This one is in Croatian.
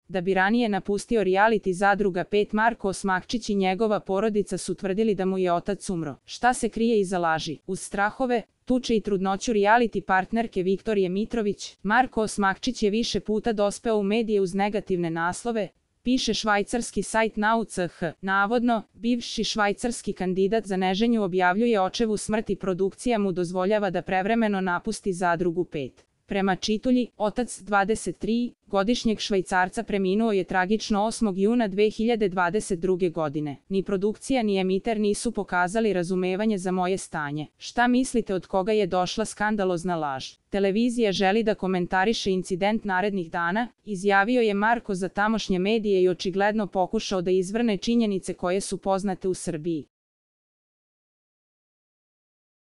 Da bi ranije napustio reality Zadruga 5, Marko Osmakčić i njegova porodica su tvrdili da mu je otac umro. Šta se krije iza laži? Uz strahove, tuče i trudnoću reality partnerke Viktorije Mitrović, Marko Osmakčić je više puta dospeo u medije uz negativne naslove, piše švajcarski sajt Now.ch. Navodno, bivši švajcarski kandidat za neženju objavljuje očevu smrt i produkcija mu dozvoljava da prevremeno napusti Zadrugu 5. Prema čitulji, otac 23-godišnjeg Švajcarca preminuo je tragično 8. juna 2022. godine. Ni produkcija ni emiter nisu pokazali razumevanje za moje stanje. Šta mislite od koga je došla skandalozna laž? Televizija želi da komentariše incident narednih dana, izjavio je Marko za tamošnje medije i očigledno pokušao da izvrne činjenice koje su poznate u Srbiji.